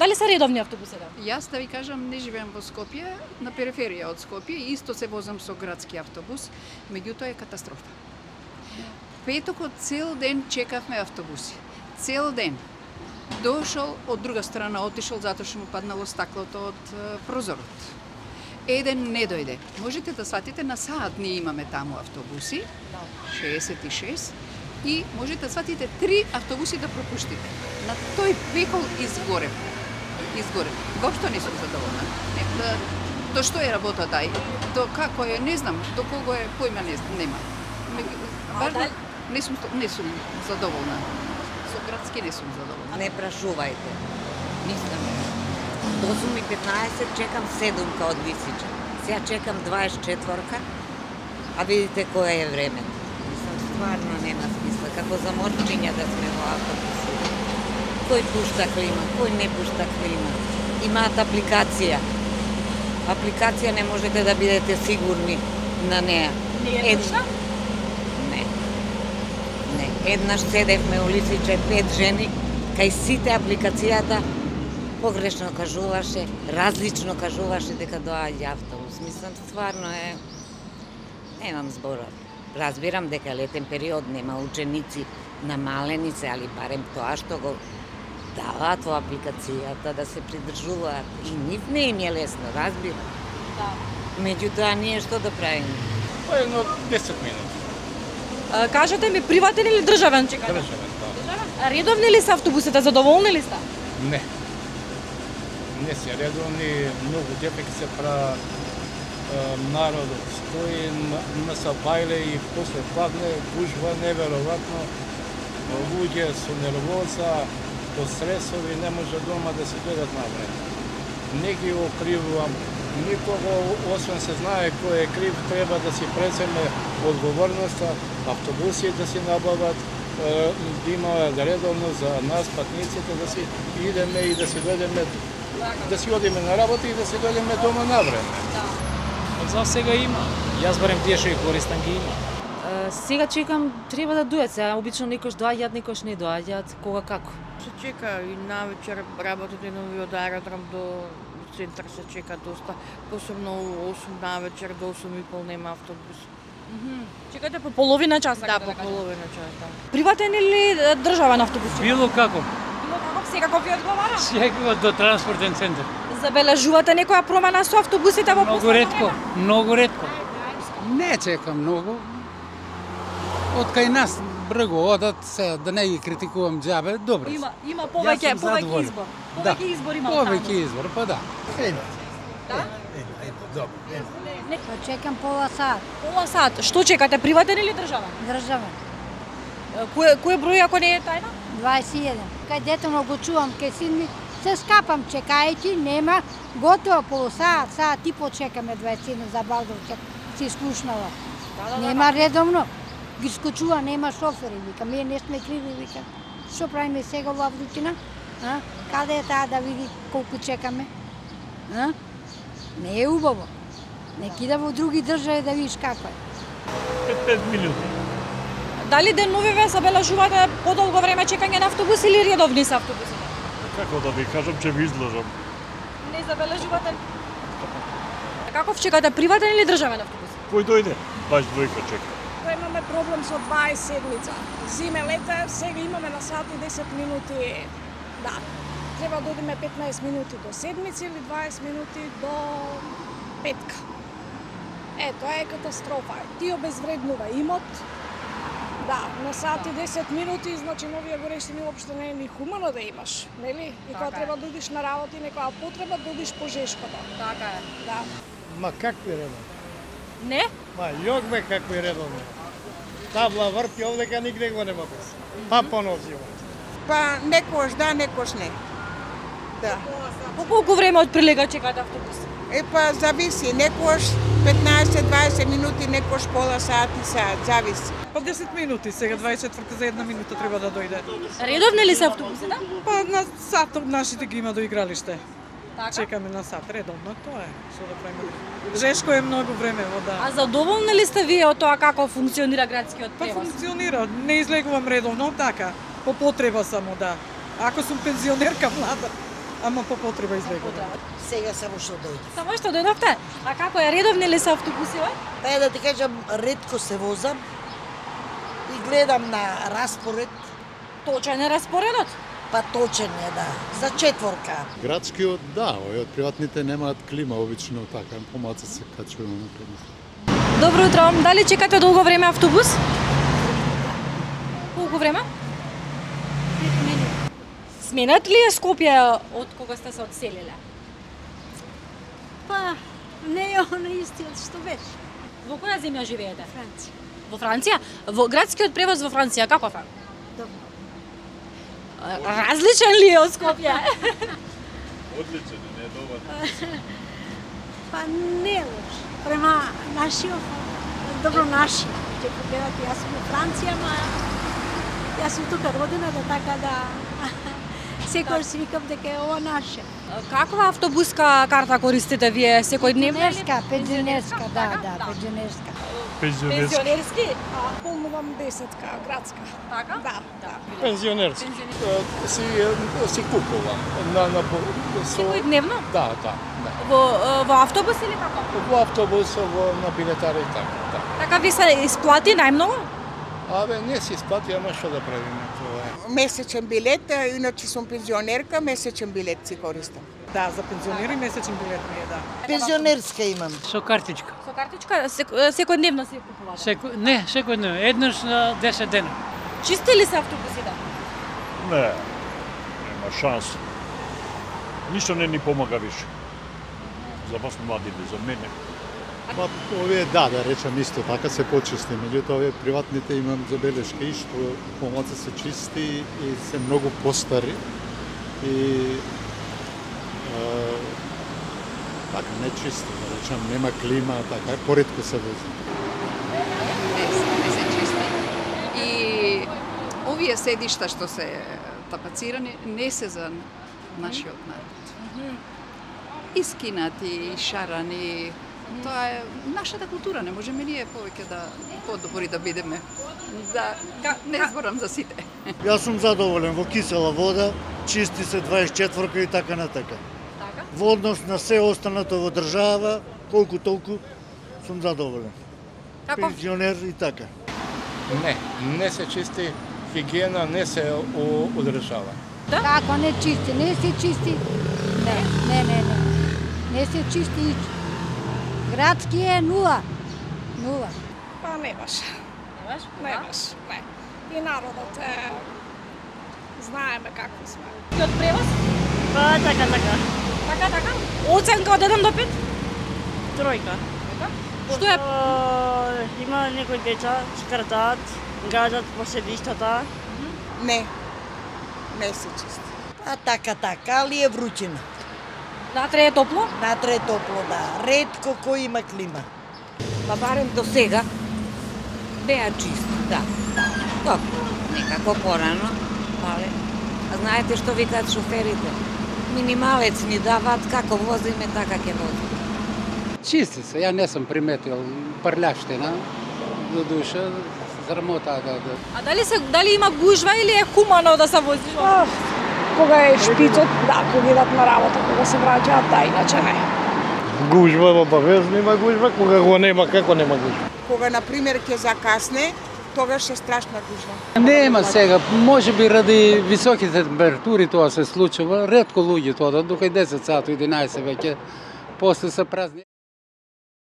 Дали се редовни автобусите? Јас да ви кажам, не живеам во Скопје, на периферија од Скопје, исто се возам со градски автобус, меѓутоа е катастрофа. Петокот цел ден чекавме автобуси. Цел ден. Дошол од друга страна, отишол затоа што му паднало стаклото од прозорот. Еден не дојде. Можете да сватите, на саат ние имаме таму автобуси, 66, и можете да сватите 3 автобуси да пропуштите. На тој векол изгорев. Воопшто не сум задоволна. До што е работата, до како е, не знам, до кого е, појма нема. Важно, не сум задоволна. Со градски не сум задоволна. Не прашувајте. Мислам, до 8:15 чекам 7-ка од Висича. Сега чекам 24-ка, а видите кое е време. Мислам, стварно нема смисла. Како за морчиња да сме во автобуси. Кој пушта клима, кој не пушта клима. Имаат апликација. Апликација не можете да бидете сигурни на неа. Не е пушта? Не. Еднаш седевме у Лисиче 5 жени, кај сите апликацијата погрешно кажуваше, различно кажуваше дека доаѓа автобус. Мислам, стварно е... Немам зборот. Разбирам дека летен период нема ученици намалени се, али барем тоа што го даваат во апликацијата да се придржуваат. И нив не им е лесно, разбирам. Да. Меѓутоа, ние што да правиме? Па едно 10 минути. Кажете ми, приватен или државен чекате? Државен, да. Редовни ли се автобусите, задоволни ли сте? Не. Не се редовни, многу депек се прават, народот стои на сабајле и после падне, гужва неверојатно, луѓе со нервоза, по стресови, не може дома да се дојдат на време. Не ги окривувам никого, освен се знае кој е крив, треба да си преземе одговорноста, автобуси да си набават, да има редовно за нас, патниците, да си идеме и да си дојдеме, да си одиме на работа и да си дојдеме дома на време. За сега има. Јас барем тие што ги користам ги има. Сега чекам, треба да дојдат. Сега обично некош доаѓаат, некош не доаѓаат, кога како. Се чека и навечер работите нови од аеродром до центар се чека доста, посебно у 8 навечер до 8:30 нема автобус. Чекате по половина час? Да, по половина час, да. Приватен или државен автобус? Било како. Било како, секако ви одговара? Секако до транспортен центар. Забележувате некоја промена со автобусите во Многу ретко, многу ретко. Не чекам многу. Од кај нас брго одат, се да не ги критикувам џабе, добре. Има повеќе избор. Повеќе избор има таму. Повеќе избор, па да. Да? Добро. Чекам пола сат. Пола сат. Што чекате, приватен или државен? Државен. Кој број ако не е тајна? 21. Кај детено го чувам, кај син ми се скапам чекајќи, нема, готово полусаат, саат и почекаме 21 за Балдовчак, си слушнала. Нема редовно. Ги скочува, нема шофери, вика, ние не сме криви, вика. Што правиме сега во Врутина? Каде е таа да види колку чекаме? Не е убаво. Не кида во други држави да видиш како е. 5 минути. Дали деновиве забележувате подолго време чекање на автобус или редовни се автобусите? Како да ви кажам, че ви излажам. Не забележувате? Каков чекате, приватен или државен автобус? Кој дојде? Баш двојка чека. Имаме проблем со 20 седмица. Зиме, лете, сега имаме на сат и 10 минути. Да, треба да одиме 15 минути до седмица или 20 минути до петка. Тоа е катастрофа. Ти обезвреднува имот. Да, на сат и 10 минути, значи новија горештини уопште не е ни хумано да имаш, нели? И кога треба да одиш на работа и некоја потреба да одиш по жешкото. Така е. Да. Ма какви редовни? Не? Ма јогбе какви редовни. Табла врти овдека нигде го нема без. Па поносиво. Па некош да, некош не. Да. По колку време од прилега чекате автобус? Па зависи, некош 15-20 минути, некош пола сат и сат, зависи. Па 10 минути, сега 24 за една минута треба да дојде. Редовни ли се автобусите? Па на сат од нашите ги има до игралиште. Така? Чекаме на сат, редовно, тоа е. Што да правиме? Жешко е многу време вода. А задоволни ли сте вие од тоа како функционира градскиот Па превоз? функционира, не излегувам редовно, така. По потреба само, да. Ако сум пензионерка млада, ама по потреба избегувам. Сега само што дојде. Само што дојдовте? А како е, редовни ли се автобусиве? Па е да ти кажам, ретко се возам и гледам на распоред. Точен е распоредот? Па точен е, да. За четворка. Градскиот, да, овие од приватните немаат клима, обично така, помалку се качуваме на клима. Добро утро, дали чекате долго време автобус? Колку време? 5 минути. Сменат ли е Скопје од кога сте се одселиле? Па, не е оно истиот што беше. Во која земја живеете? Франција. Во Франција? Во градскиот превоз во Франција каков е? Добро. Различен ли е од Скопје? Одличен е, не е добар. Па не е лош. Према нашиот, добро наши. Ќе погледате, јас сум во Франција, ма јас сум тука родена, да така да секој си викам дека е ова наше. Каква автобуска карта користите вие секојдневно? Пензионерска, да, пензионерска. Пензионерски? Полнувам 10-ка, градска. Така? Да. Пензионерски. Си купувам. Секојдневно? Да. Во автобус или како? Во автобус, на билетари и така. Така ви се исплати најмногу? Абе, не се исплати, ама што да правиме тоа е. Месечен билет, иначе сум пензионерка, месечен билет си користам. Да, за пензионери месечен билет ми е, да. Пензионерска имам. Со картичка. Со картичка секојдневно си купувате? Не, секојдневно, еднаш на 10 дена. Чисти ли се автобусите? Не, нема шанс. Ништо не ни помага више. За вас младите, за мене. Па, овие да речам исто така се почисти, меѓутоа овие приватните имам забелешки и што помалку се чисти и се многу постари и така не чисти, да речам, нема клима, така поретко се вози. Не се чисти. И овие седишта што се тапацирани не се за нашиот народ. Искинати, шарани, тоа е нашата култура, не можеме ние повеќе да подобри да бидеме. Да, не зборам за сите. Јас сум задоволен во кисела вода, чисти се 24-ка и така натака. Така? Во однос на се останато во држава, колку толку сум задоволен. Пензионер и така. Не се чисти, хигиена не се одржава. Како не чисти? Не се чисти. Не. Не се чисти. Градски е нула. Па не баш. Не баш. И народот е... знаеме какви сме. И од превоз? Па, така. Така? Оценка од 1 до 5? Тројка. Што е? Има некои деца, скртаат, газат по седиштата. Не се чисти. А така, али е вручина. Натре е топло? Натре е топло, да. Ретко кој има клима. Па барем до сега беа чисти, да. Добро, некако порано, але знаете што викаат шоферите? Минималец ни даваат, како возиме, така ќе возиме. Чисти се, ја не сум приметил прљавштина, до душа, срамота да. А дали има гужва или е хумано да се вози? Кога е шпицот, да, кога идат на работа, кога се враќаат, да, иначе не. Гужва, обавезно има гужва, кога го нема, како нема гужва? Кога, например, ќе закасне, тогаш е страшна гужва. Нема сега, може би ради високите температури тоа се случува, ретко луѓето одат, дука и 10 сати, 11 веќе, после се празни.